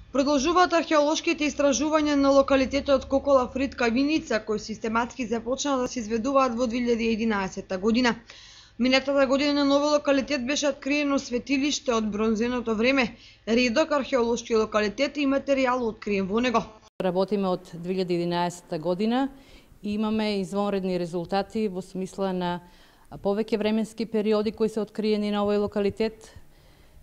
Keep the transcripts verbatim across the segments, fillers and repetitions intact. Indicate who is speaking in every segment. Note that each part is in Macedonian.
Speaker 1: Продолжуваат археолошките истражувања на локалитетот Кокола Фритка Виница, кои систематски започнаа да се изведуваат во две илјади и единаесетта година. Минатата година на нови локалитет беше откриено светилиште од бронзеното време, редок археолошки локалитети и материјал откриен во него.
Speaker 2: Работиме од две илјади и единаесетта година и имаме извонредни резултати во смисла на повеќе временски периоди кои се откриени на овој локалитет.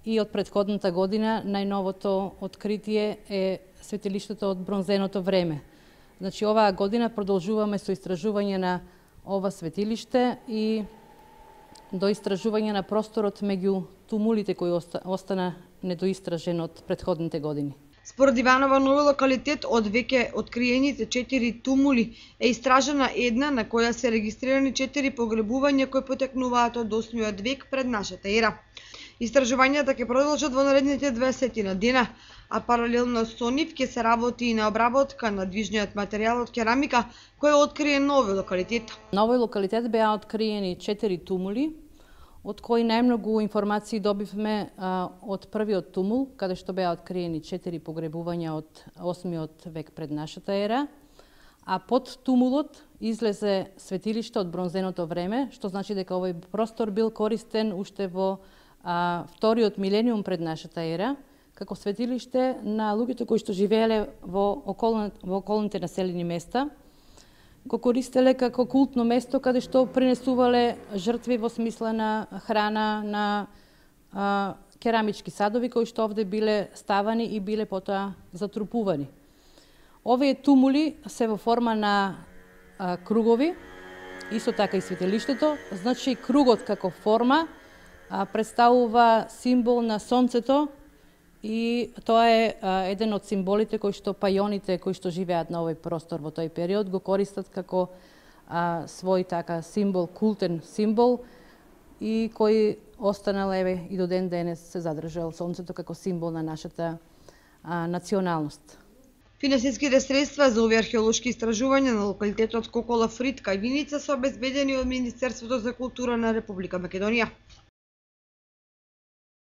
Speaker 2: И од претходната година најновото откритие е светилиштето од бронзеното време. Значи, оваа година продолжуваме со истражување на ова светилиште и до истражување на просторот меѓу тумулите кои остана недоистражен од претходните години.
Speaker 1: Според Иванова, нови локалитет од веќе откриените четири тумули е истражена една на која се регистрирани четири погребувања кои потекнуваат од осмиот век пред нашата ера. Истражувањата ќе продолжат во наредните дваесет дена, а паралелно со нив ќе се работи и на обработка на движниот материјал од керамика кој е откриен на овој локалитет.
Speaker 2: На овој локалитет беа откриени четири тумули, од кои најмногу информации добивме а, од првиот тумул, каде што беа откриени четири погребувања од осмиот век пред нашата ера, а под тумулот излезе светилиште од бронзеното време, што значи дека овој простор бил користен уште во а, вториот милениум пред нашата ера, како светилиште на луѓето кои што живееле во, околни, во околните населени места, го користеле како култно место каде што принесувале жртви во смисла на храна, на а, керамички садови кои што овде биле ставани и биле потоа затрупувани. Овие тумули се во форма на а, кругови, исто така и светилиштето, значи кругот како форма а, представува символ на сонцето и тоа е а, еден од символите кои што пајоните кои што живеат на овој простор во тој период го користат како а, свој така символ, култен символ и кој останал еве и до ден денес се задржал сонцето како символ на нашата а, националност.
Speaker 1: Финансиските средства за овие археолошки истражувања на локалитетот Кокола Фритка Виница се обезбедени од Министерството за култура на Република Македонија.